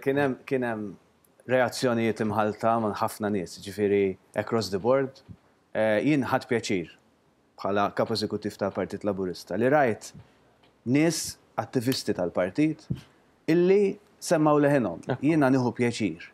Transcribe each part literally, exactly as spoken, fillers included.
Kien hemm kien hemm reazzjonijiet imħalta minn ħafna nies, ġifieri across the board. Eh, Jien ħadt pjaċir bħala kap eżekuttiv tal-Partit Laburista li rajt nies attivisti tal-partit illi semmaw leħinhom. Jiena nieħu pjaċir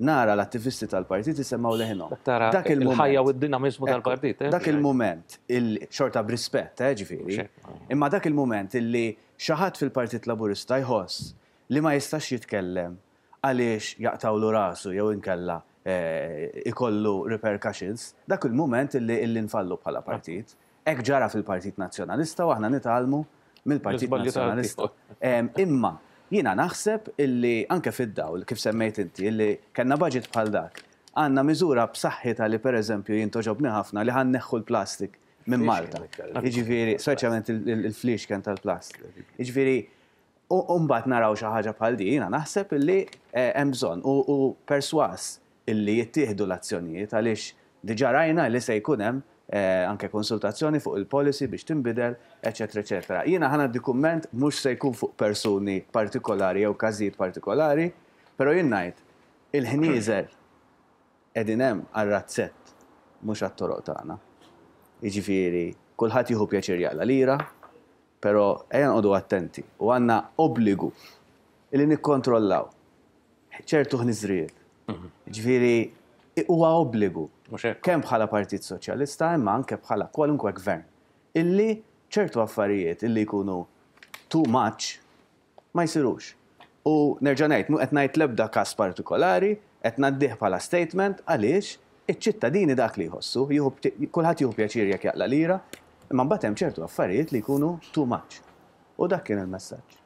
nara l-attivisti tal-partit isemmaw leħinhom. Tara Dak il-mument. il-ħajja u d-dinamizmu tal-partit. eh? Dak il-moment, il xorta b'rispett, eh, ġifieri. Xek. Imma dak il-moment illi xi ħadd fil-Partit Laburista jħoss li ma jistax jitkellem għaliex jaqtawlu rasu jew inkella eh, ikollu repercussions, dak il-moment illi illi nfallu bħala partit. Hekk ġara fil-Partit Nazzjonalista u aħna nitgħallmu mill-Partit L-iżbalji Nazzjonalista. Em, Imma jiena naħseb illi anke fid-dawl, kif semmejt inti, illi kellna budget bħal dak, għandna miżura b'saħħitha li, per eżempju, jien togħġobni ħafna li ħa nneħħu l-plastik minn Malta. Jiġifieri, speċjalment il-fliexken tal-plastik. Jiġifieri, u mbagħad naraw xi ħaġa bħal din, jiena naħseb illi eh, hemm bżonn u u perswas illi jittieħdu l-azzjonijiet, għaliex diġà rajna li se jkun hemm eh, anke konsultazzjoni fuq il-policy biex tinbidel, eċetera, eċetera. Jiena ħa ngħaddi kumment, mhux se jkun fuq persuni partikolari jew każijiet partikolari, però jien ngħid il-ħnieżer qegħdin hemm għar-razzett, mhux għat-toroq tagħna. Jiġifieri, kulħadd jieħu pjaċir jaqla lira, però ejja noqogħdu attenti u għandna obbligu illi nikkontrollaw ċertu ħniżrijiet. Ġifieri, huwa obbligu Mhux hekk. kemm bħala Partit Soċjalista imma anke bħala kwalunkwe gvern illi ċertu affarijiet illi jkunu too much ma jsirux. U nerġa' ngħid, mhu qed ngħid l-ebda każ partikolari, qed ngħaddih bħala statement għaliex iċ-ċittadini dak li jħossu, jieħu- kulħadd jieħu pjaċir jekk jaqla lira, imma mbagħad hemm ċertu affarijiet li jkunu too much. U dak kien il-messaġġ.